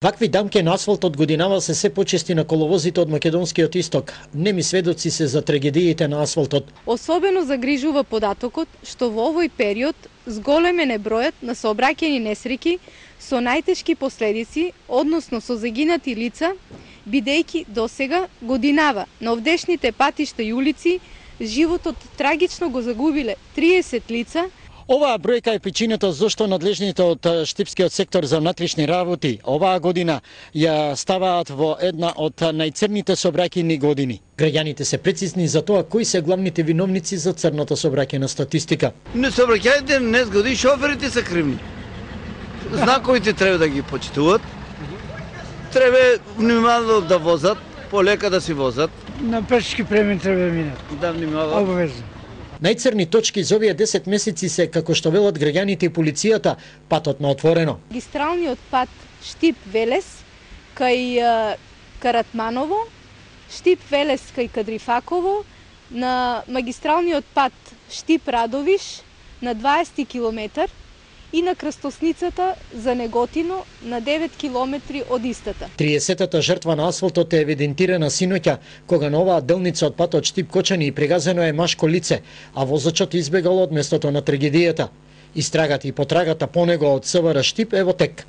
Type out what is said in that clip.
Вакви дамки на асфалтот годинава се почести на коловозите од македонскиот исток. Неми сведоци се за трагедиите на асфалтот. Особено загрижува податокот што во овој период зголемен е бројот на сообраќајни несреќи со најтешки последици, односно со загинати лица, бидејќи досега годинава на овдешните патишта и улици животот трагично го загубиле 30 лица. Оваа бројка е причината зашто надлежните од Штипскиот сектор за внатрешни работи оваа година ја ставаат во една од најцрните сообраќајни години. Граѓаните се прецизни за тоа кои се главните виновници за црната сообраќајна статистика. Не сообраќајните не згоди, шоферите се кривни. Знаковите треба да ги почитуваат. Треба внимателно да возат, полека да си возат. На пешки премин треба да минат. Да внимават. Обавезно. Најцрни точки за овие 10 месеци се, како што велат граѓаните и полицијата, патот на отворено. Магистралниот пат Штип-Велес кај Каратманово, Штип-Велес кај Кадрифаково, на магистралниот пат Штип-Радовиш на 20 километар и на крстосницата за Неготино на 9 километри од истата. 30-та жртва на асфалтот е евидентирана синоќа, кога на оваа делница од патот Штип-Кочани и прегазено е машко лице, а возачот избегал од местото на трагедијата. Истрагата и потрагата по него од СВР Штип е во тек.